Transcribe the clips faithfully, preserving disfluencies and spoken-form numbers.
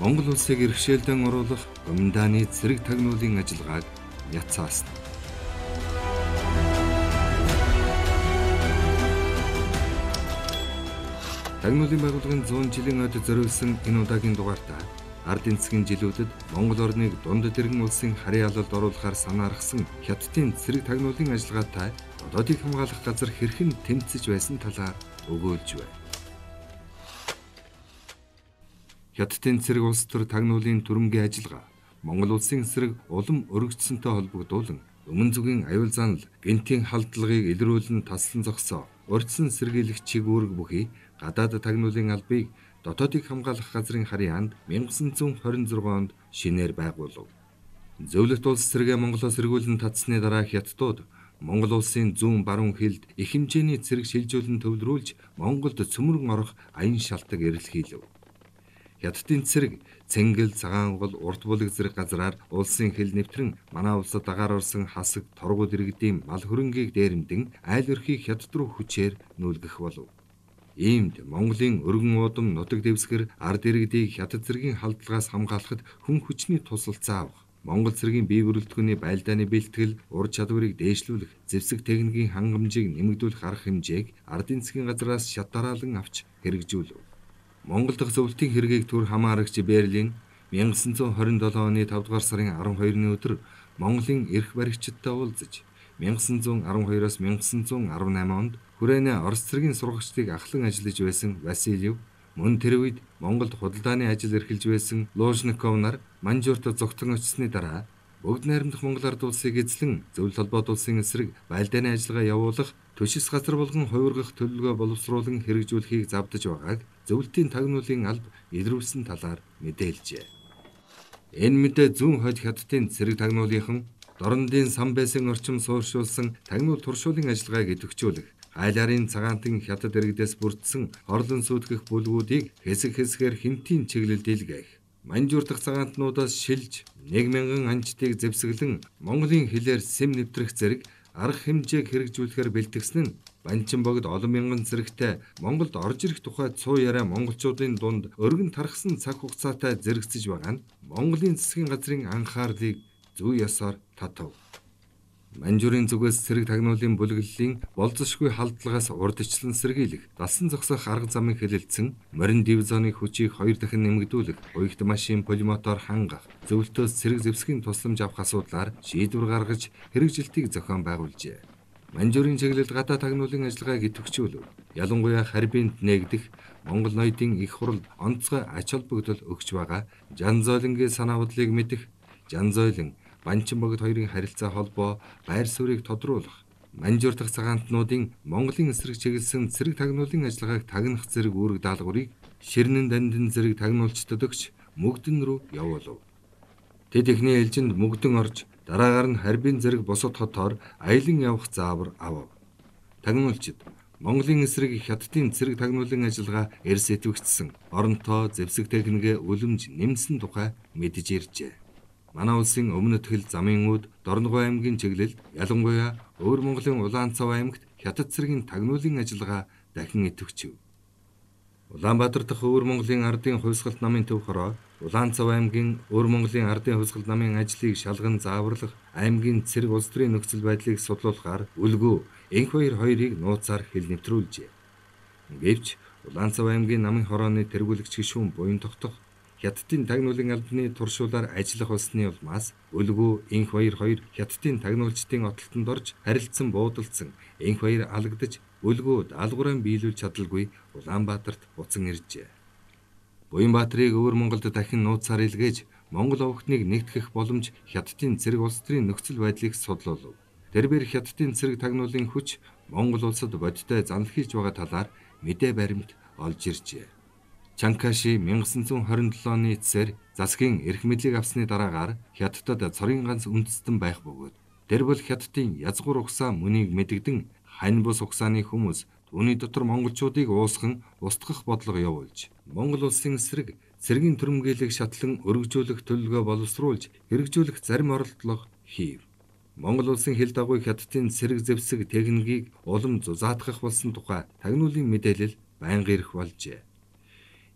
Монгол улсыг иргэшээлдэн оруулах Гоминдааны цэрэг тагнуулын ажиллагааг няцаасна. Тагнуулын байгууллагын зуун жилийн ойд зориулсан энэ удаагийн дугаартаа ардын засгийн жилүүдэд Монгол орныг дунд дэргэн улсын харийн алалд оруулахаар санаархсан Хятадын цэрэг тагнуулын ажиллагаатай одоодыг хамгаалах газар хэрхэн тэмцэж байсан талаар өгөөлж байна. Хятадын цэрэг улс төр тагнуулын түрэмгийн ажиллагаа Монгол улсын эсрэг улам өргөжсөнтэй холбогдуулан өмнө зүгийн аюул занал, гэнтийн халдлагыг илрүүлэн таслан зогсоо, урьдчилан сэргийлэх чиг үүрэг бүхий гадаад тагнуулын албыг дотоодыг хамгаалах газрын харийн анд 천구 хорин зургаан онд шинээр байгуулав. Зөвлөлт улс цэрэгээ Монголоос эргүүлэн татсны дараа Хятадууд Монгол улсын зүүн баруун хилд их хэмжээний цэрэг шилжүүлэн төвлөрүүлж Монголд цөмөрөн орох аян шалтак эрэлхийлв. Хятадын цэрэг Цэнгэл, Цагаангол, Урт булаг зэрэг газраар улсын хил нэвтрэн манай улсад дагаар орсон хасаг торгууд иргэдийн мал хөрөнгийг дээрэмдэн айл өрхийг Хятад руу хүчээр нүүлгэх болов. Иймд Монголын өргөн уудам нутаг дэвсгэр ард иргэдийг Хятад цэргийн халдлагаас хамгаалахад хүн хүчний тусалцаа авах, Монгол цэргийн бие бүрэлдэхүүний байлдааны бэлтгэл, ур чадварыг дээшлүүлэх, зэвсэг техникийн хангамжийг нэмэгдүүлэх арга хэмжээг ардын засгийн газраас шат дараалан авч хэрэгжүүлв. Монгол дахь зөвлөлтийн хэргийг төр хамаарагч Берлин 천구 хорин седем оны тавд дугаар сарын арван хоёрны өдөр Монголын эрх баригчдтай уулзаж 천구 арван хоёроос 천구 арван eight онд хүрээний Орос цэргийн сургагчдыг ахлан ажиллаж байсан Васильев, мөн тэр үед Монголд худалдааны ажил эрхэлж байсан Лужников нар Манжуурт зогтон очсны дараа бүгд найрамдах Монгол ард улсыг эзлэн зөвлөлт холбоот улсын эсрэг байлдааны ажиллагаа явуулах, төшис газар болгон хувиргах төлөвлөгөө боловсруулан хэрэгжүүлэхийг завдаж байгааг зөвлөлтийн тагнуулын алба илрүүлсэн талаар мэдээлжээ. Энэ мэдээ зүүн хойд Хятадын цэрэг тагнуулынхан дорнодын сан байсан орчим суурьшуулсан тагнуул туршуулын ажиллагааг идэвхжүүлэх, айларын цагаантан Хятад иргэдээс бүрдсэн хорлон сүйтгэх бүлгүүдийг хэсэг хэсгээр хинтийн чиглэлд илгээх, Манжуур дахь цагаантнуудаас шилж нэг мянган анчтыг зэвсэглэн Монголын хилээр сэм нэвтрэх зэрэг арга хэмжээг хэрэгжүүлэхээр бэлтгэсэн нь Банчин богд олон мянган зэрэгтэй Монголд орж ирэх тухайд цуу яриа монголчуудын дунд өргөн тархсан цаг хугацаатай зэрэгцэж байгаа нь Монголын засгийн газрын анхаарлыг зүй ёсоор татав. Манжуурын зүгээс цэрэг тагнуулын бүлэглэлийн болзошгүй халдлагаас урдчлан сэргийлэх, далсан зогсох арга замыг хэлэлцэн, морин дивизионы хүчийг хоёр дахин нэмэгдүүлэх, уягт машин пулемотоор хангах, зөвлөлтөөс цэрэг зэвсгийн тусламж авах асуудлаар шийдвэр гаргаж хэрэгжилтийг зохион байгуулжээ. Манжуурын чиглэлд гадаа тагнуулын ажиллагааг идэвхжүүлв. Ялангуяа харьбинд нээгдэх Монгол ноёдын их хурал онцгой ач холбогдол өгч байгаа Жанзойлонгийн санаа бодлыг мэдэх, Жанзойлон Банчин богд хоёрын харилцаа холбоо байр суурийг тодруулах, Манжуур дахь цагаантнуудын Монголын эсрэг чиглэсэн цэрэг тагнуулын ажиллагааг тагнах зэрэг үүрэг даалгаврыг Ширнэн дандин зэрэг тагнуулчдад өгч Мөгдөн рүү явуулав. Тэд эхний ээлжинд Мөгдөн орж дараагаар нь Харьбин зэрэг бусад хотоор аялан явах заавар авав. Тагнуулчид Монголын эсрэг Хятадын цэрэг тагнуулын ажиллагаа эрс идэвхжсэн, оронтоо зэвсэг техникээ үлэмж нэмсэн тухай мэдэж иржээ. Манай улсын өмнөд хил замын үүд Дорногов аймгийн чиглэлд ялангуяа Өвөр Монголын Улаанцав аймагт Хятад цэргийн тагнуулын ажиллагаа дахин идэвхжив. Улаанбаатар дахь Өвөр Монголын ардын хувьсгалт намын төв хороо Улаанцав аймгийн Өвөр Монголын ардын хувьсгалт намын ажлыг шалган зааварлах, аймгийн цэрэг улс төрийн нөхцөл байдлыг судлуулахаар үлгүү энх баяр хоёрыг нууцаар хил нэвтрүүлжээ. Гэвч Улаанцав аймгийн намын хорооны тэргүүлэгч гишүүн буян тогтох Хятадын тагнуулын албаны туршуулаар ажиллах болсны улмаас үлгүү энх баяр хоёр Хятадын тагнуулчдын отолтонд орж харилцсан буудалцсан, энх баяр алагдаж үлгүү даалгавраа биелүүлж чадалгүй Улаанбаатарт буцан иржээ. Буянбаатарыг Өвөр Монголд дахин нууцаар илгээж Монгол овогтныг нэгтгэх боломж Хятадын цэрэг улс төрийн нөхцөл байдлыг судлуулав. Тэрбээр Хятадын цэрэг тагнуулын хүч Монгол улсад бодиттой занал хийж байгаа талаар мэдээ баримт олж иржээ. Чанкаши 천구 хорин седем оны эцсээр засгийн эрх мэдлийг авсны дараагаар Хятадд цорын ганц үндэстэн байх бөгөөд тэр бол Хятадын язгуур угсаа мөнийг мэдэгдэн хань бус угсааны хүмүүс түүний дотор монголчуудыг уусган устгах бодлого явуулж Монгол улсын эсрэг цэргийн түрэмгийлэг шатлан өргөжүүлэх төлөвлөгөө боловсруулж хэрэгжүүлэх зарим оролдлого хийв. Монгол улсын хил дагуу Хятадын цэрэг зэвсэг техникийг улам зузаатгах болсон тухай тагнуулын мэдээлэл байнга ирэх болжээ.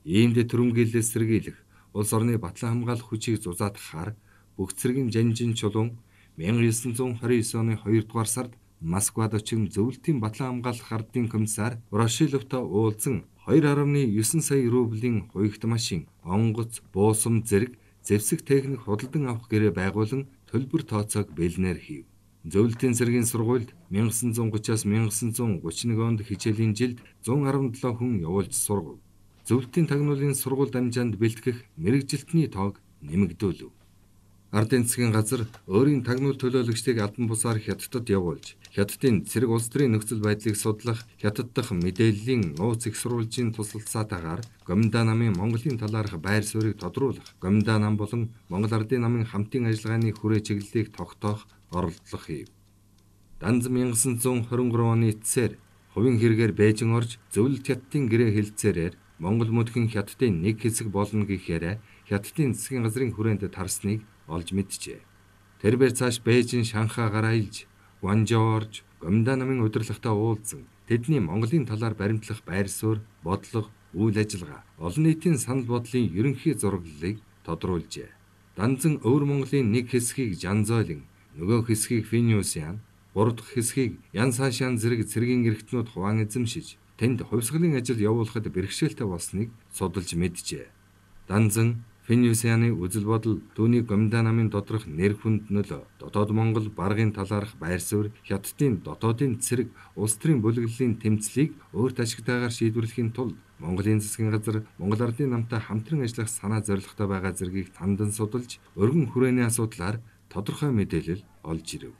Иймд түрэмгийлэлээс сэргийлэх, улс орны батлан хамгаалах хүчийг зузаатгахаар бүх цэргийн жанжин чулуун мянга девять жүз двадцать девять оны хоёрдугаар сард Москвад очин зөвлөлтийн батлан хамгаалах ардын комиссар Ворошиловтой уулзсан two point nine сая рублийн хуягт машин, онгоц, буусам зэрэг зэвсэг техник худалдан авах гэрээ байгуулан төлбөр тооцоог бэлнээр хийв. Зөвлөлтийн цэргийн сургуульд nineteen thirty-аас nineteen thirty-one онд хичээлийн жилд one hundred seventeen хүн явуулж сургав. Зөвлөлтийн тагнуулын сургууль дамжаанд бэлтгэх мэрэгжилтний тоог нэмэгдүүлв. Ардын засгийн газар өөрийн тагнуул төлөөлөгчдийг албан бусаар хятадд явуулж, хятадын цэрэг улс төрийн нөхцөл байдлыг судлах хятад дахь мэдээллийн нууц их сурвалжийн тусалцаатаагаар Гоминда намын Монголын талаарх байр суурийг тодруулах, Гоминда нам болон Монгол Ардын намын хамтын ажиллагааны хүрээ чиглэлийг тогтоох оролдлого хийв. Данз nineteen twenty-three оны эцсээр хувийн хэрэгээр Бээжин орж зөвлөлт хятадын гэрээ хэлцээрээр Монгол мөдгөн хятадын нэг хэсэг болно гэхээр хятадын засгийн газрын хүрээнд тарсныг олж мэджээ. Тэрээр цааш Бээжин Шанхай гараилж, Гуанчжоу орж Гоминда намын удирдлагатай уулзсан. Тэдний Монголын талаар баримтлах байр суурь, бодлого, үйл ажиллагаа, олон нийтийн санал бодлын ерөнхий зураглалыг тодруулжээ. Данзан өвөр Монголын нэг хэсгийг Жанзойлин, нөгөө хэсгийг Финюсян, гурав дахь хэсгийг Ян Сашан зэрэг цэргийн эрхтнүүд хуваан эзэмшиж, тэнд хувьсгалын ажил явуулахад бэрхшээлтэй болсныг судалж мэджээ. Данзан Финюсяны үзэл бодол түүний Гоминда намын доторх нэр хүнд нөлөө, дотоод Монгол баргын талаарх байр суурь, хятадын дотоодын цэрэг улс төрийн бүлэглэлийн тэмцлийг өөрт ашигтайгаар шийдвэрлэхийн тулд Монголын засгийн газар Монгол Ардын намтай хамтран ажиллах санаа зорилготой байгаа зэргийг тандан судалж, өргөн хүрээний асуудлаар тодорхой мэдээлэл олж ирэв.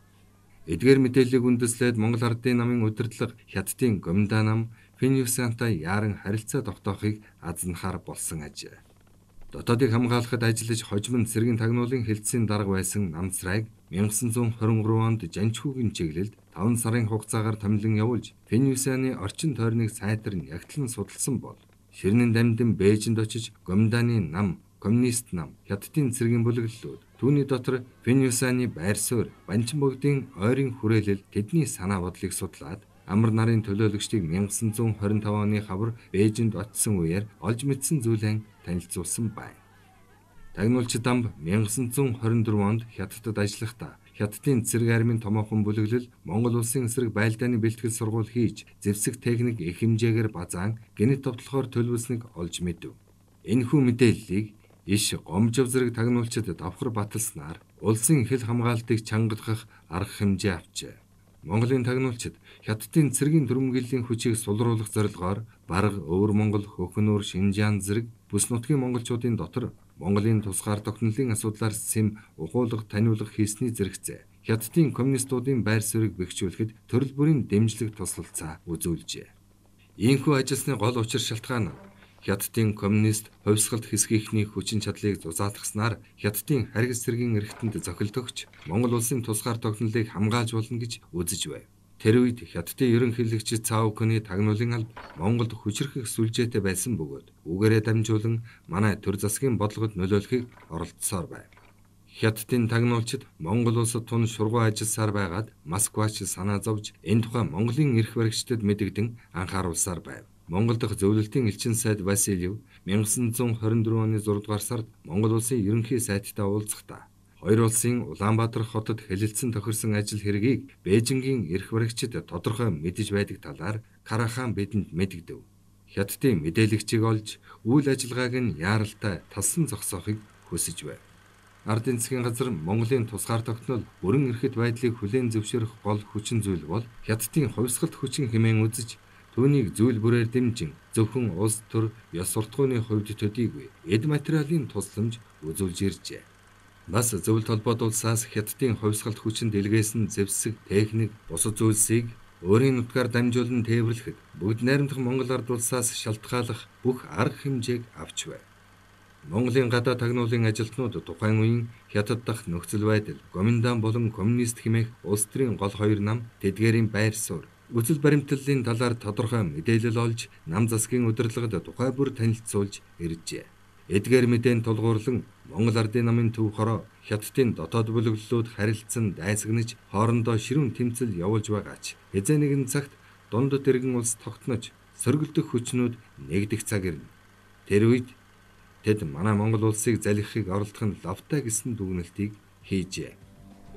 Эдгээр мэдээллийг үндэслээд Монгол Ардын намын удирдлага хятадын Гоминда нам Финюсянтай яаран харилцаа тогтоохыг азнахаар болсон ажээ. Дотоодыг хамгаалахад ажиллаж хожим нь цэргийн тагнуулын хэлтсийн дарга байсан Намцрайг nineteen twenty-three онд Жанчхүүгийн чиглэлд five сарын хугацаагаар томилон явуулж Финюсяны орчин тойрныг сайтар нягтлан судалсан бол ширнэн дамдин Бээжинд очиж Гоминданы нам, коммунист нам, хятадын цэргийн бүлэглэлүүд түүний дотор Финюсяны байр суурь, Банчин богдын ойрын хүрээлэл тэдний санаа бодлыг судлаад амар нарын төлөөлөгчдийг nineteen twenty-five оны хавар Бээжинд очсон үеэр олж мэдсэн зүйлэн танилцуулсан байна. Тагнуулч Дамб nineteen twenty-four онд хятадд ажиллахдаа хятадын цэрэг армийн томоохон бүлэглэл Монгол улсын эсрэг байлдааны бэлтгэл сургууль хийж зэвсэг техник их хэмжээгээр базаан гэнэт товтлохоор төлөвлөснийг олж мэдэв. Энэхүү мэдээллийг иш Гомжов зэрэг тагнуулчид давхар баталснаар улсын хэл хамгаалтыг чангалгах арга хэмжээ авчээ. Монголын тагнуулчид хятадын цэргийн дүрмгийллийн хүчийг сулруулах зорилгоор Барга, Өвөр Монгол, Хөхнүүр, Шинжаан зэрэг бүс нутгийн монголчуудын дотор Монголын тусгаар тогтнолын асуудлаар сэм ухуулга таниулах хийсний зэрэгцээ. Хятадын коммунистуудын байр суурийг бэхжүүлэхэд төрөл бүрийн дэмжлэг туслалцаа үзүүлжээ. Ийхүү ажилласны гол учир шалтгаан Хятадын коммунист хувьсгалт хэсгийнхний хүчин чадлыг зузаатгаснаар Хятадын харгас цэргийн эрхтэнд зохилдогч Монгол улсын тусгаар тогтнолыг хамгаалж болно гэж үзэж байв. Тэр үед Хятадын ерөнхийлөгч Цао Күний тагнуулын алба Монголд хүчрхэх сүлжээтэй байсан бөгөөд үгээрээ дамжуулан манай төр засгийн бодлогод нөлөөлөхийг оролдсоор байв. Хятадын тагнуулчид Монгол улсад тун шургуу ажилласаар байгаад Москвач санаа зовж энэ тухай Монголын эрх баригчдад мэдэгдэн анхааруулсаар байв. Монгол дахь зөвлөлтийн элчин сайд Васильев nineteen twenty-four оны six дугаар сард Монгол улсын ерөнхий сайттай уулзахдаа хоёр улсын Улаанбаатар хотод хэлэлцэн тохирсон ажил хэргийг Бээжингийн эрх баригчид тодорхой мэдэж байдаг талаар Карахан бидэнд мэдэгдэв. Хятадын мэдээлэгчийг олж үйл ажиллагааг нь яаралтай талсан зогсоохыг хүсэж байв. Ардын засгийн газар Монголын тусгаар тогтнол бүрэн эрхэт байдлыг хүлээн зөвшөөрөх гол хүчин зүйл бол Хятадын хувьсгалт хүчин хэмээн үзэж түүнийг зүйл бүрээр дэмжин зөвхөн улс төр ёс суртахууны хувьд төдийгүй эд материалын тусламж үзүүлж иржээ. Бас зөвлөлт холбоот улсаас Хятадын хувьсгалт хүчин дэлгээсэн зэвсэг, техник, бусад зүйлсийг өөрийн нутгаар дамжуулан тээвэрлэхэд бүгд найрамдах Монгол ард улсаас шалтгааллах бүх арга хэмжээг авч байв. Монголын гадаа тагнуулын ажилтнууд тухайн үеийн Хятад дахь нөхцөл байдал, Гоминдан болон коммунист хэмээх улс төрийн гол хоёр нам тэдгээрийн байр суурь, үзэл баримтлалын талаар тодорхой мэдээлэл олж нам засгийн удирдлагад тухай бүр танилцуулж иржээ. Эдгээр мэдээн тулгуурлан Монгол Ардын намын төв хороо Хятадын дотоод бүлэглэлүүд харилцан дайсагнаж хоорондоо ширүүн тэмцэл явуулж байгаач хэзээ нэгэн цагт дунд дэргэн улс тогтнож сөргөлдөх хүчнүүд нэгдэх цаг ирнэ. Тэр үед Тэд манай Монгол улсыг залхихыг оролдох нь лавтай гэсэн дүгнэлтийг хийжээ.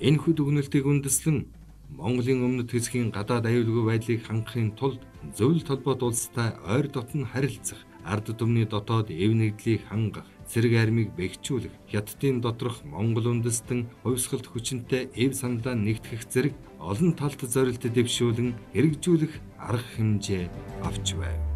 Энэхүү дүгнэлтийг үндэслэн Монголын өмнөд хэсгийн гадаад аюулгүй байдлыг хангахын тулд зөвлөлт холбоот улстай ойр дотн харилцах, ард түмний дотоод эв нэгдлийг хангах, цэрэг армийг бэхжүүлэх, хятадын доторх Монгол үндэстэн хувьсгалт хүчинтэй эв саналаа нэгтгэх зэрэг олон талт зорилт дэвшүүлэн хэрэгжүүлэх арга хэмжээ авч байв.